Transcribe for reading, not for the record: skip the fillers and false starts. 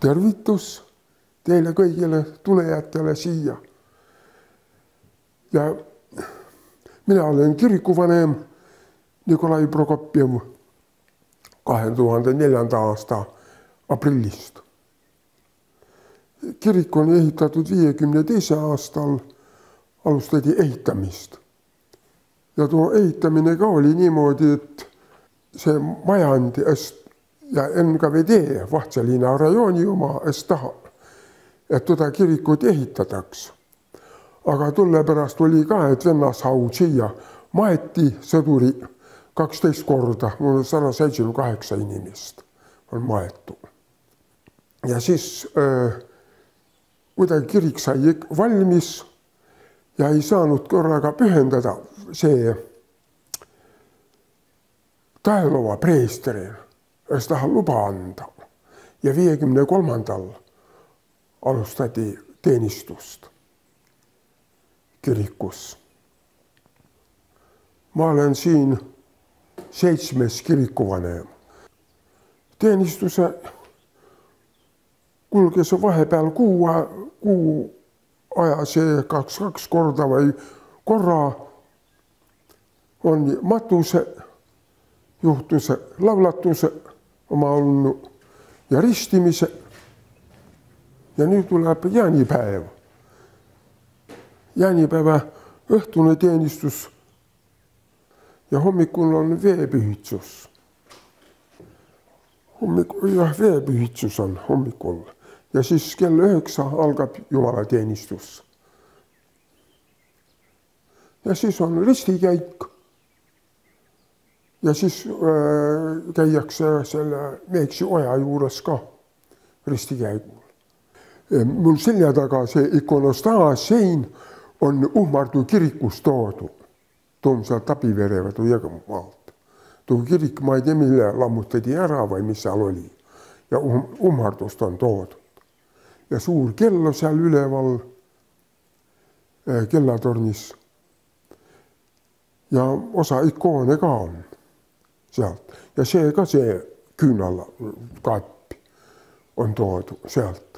tervitus teile kõigile tulejatele siia. Ja mina olen kirikuvanem Nikolai Prokopjev 2004. aasta aprillist. Kirik on ehitatud 52. aastal, alustati ehitamist. Ja tuo ehitamine ka oli niimoodi, et see majandi ja NKVD Vahtsaliina rajooni oma taha, et teda kirikut ehitataks. Aga tulle pärast oli ka, et Vennashaud siia maeti sõduri 12 korda, mul 178 inimest on maetu. Ja siis kuidagi kirik sai valmis ja ei saanud korraga pühendada see Taelova preesteril, kes tahab luba anda. Ja 53. alustati teenistust kirikus. Ma olen siin 7. kirikuvanem. Teenistuse kulges vahepeal kuu aja see 2 korda või korra on matuse, juhtuse, lavlatuse oma olnud ja ristimise. Ja nüüd tuleb jaanipäev. Jaanipäeva õhtune teenistus ja hommikul on veepühitsus. Veepühitsus on hommikul ja siis kell 9 algab jumalateenistus. Ja siis on ristikäik ja siis käiakse selle Meeksi oja juures ka ristikäigul. Mul selja taga see ikonostaas sein on Uhmardu kirikus toodu. Toomsaal Tabiverevad või Jõgemaalt. Tuo kirik, ma ei tea, mille lammutati ära või mis seal oli. Ja Uhmardust on toodud. Ja suur kello seal üleval kellatornis. Ja osa ikoone ka on sealt. Ja see ka see küünala kapp on toodu sealt.